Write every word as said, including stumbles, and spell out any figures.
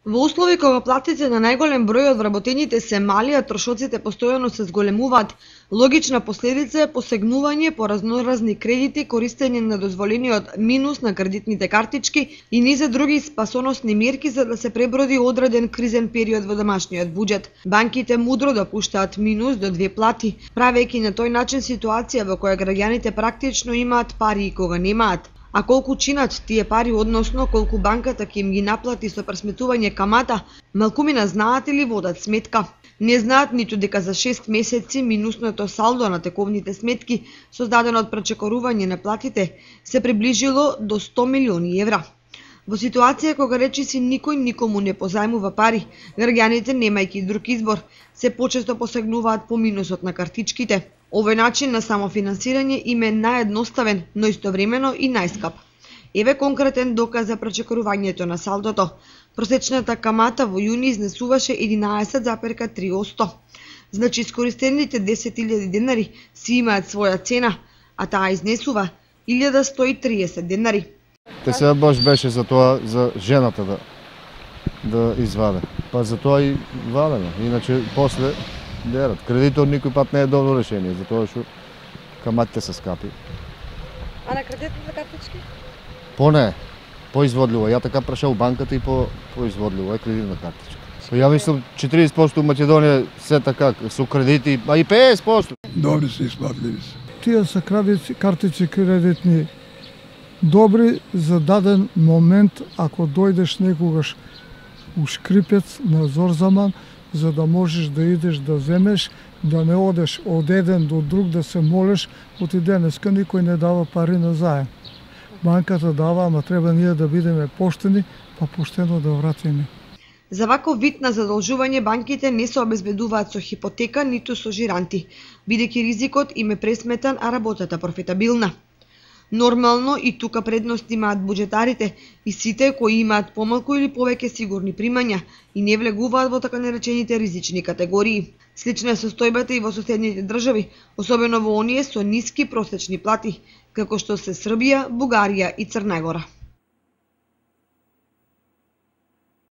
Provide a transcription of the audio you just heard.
Во услови кога платите на најголем број од вработените се мали, а трошоците постојано се зголемуваат, логична последица е посегнување по разноразни кредити, користење на дозволениот минус на кредитните картички и низ други спасоносни мерки за да се преброди одреден кризен период во домашниот буџет. Банките мудро допуштаат минус до две плати, правејќи на тој начин ситуација во која граѓаните практично имаат пари и кога немаат. А колку чинат тие пари, односно колку банката ќе им ги наплати со пресметување камата, малкумина знаат или водат сметка. Не знаат ниту дека за шест месеци минусното салдо на тековните сметки, создадено од пречекорување на платите, се приближило до сто милиони евра. Во ситуација кога речиси никој никому не позајмува пари, граѓаните, немајќи друг избор, се почесто посегнуваат по минусот на картичките. Овој начин на самофинансирање им е наједноставен, но истовремено и најскап. Еве конкретен доказ за пречекорувањето на салдото. Просечната камата во јуни изнесуваше единаесет запирка три одсто. Значи искористените десет илјади денари си имаат своја цена, а таа изнесува илјада сто и триесет денари. Те се баш беше за тоа за жената да да изваде. Па за тоа и вадеме. Иначе после дерат. Кредитор никој пат не е добро решение, затоа што каматите се скапи. А на кредитните картички? По не, поизводливо. Ја така прашав банката и по поизводливо е кредитна картичка. Ја мислам четириесет проценти у Македонија се така со кредити, а и петдесет проценти. Добри се исплатливи се. Тие се кредити, картички кредитни добри за даден момент, ако дојдеш некогаш у шкрипец на Зорзаман, за да можеш да идеш да земеш, да не одеш од еден до друг да се молиш, оти денеска никој не дава пари на заем. Банката дава, ама треба ние да бидеме поштени, па поштено да вратиме. За ваков вид на задолжување банките не се обезбедуваат со хипотека ниту со жиранти, бидејќи ризикот им е пресметан, а работата профитабилна. Нормално и тука предност имаат буџетарите и сите кои имаат помалку или повеќе сигурни примања и не влегуваат во така наречените ризични категории. Слична е состојбата и во соседните држави, особено во оние со ниски просечни плати, како што се Србија, Бугарија и Црна Гора.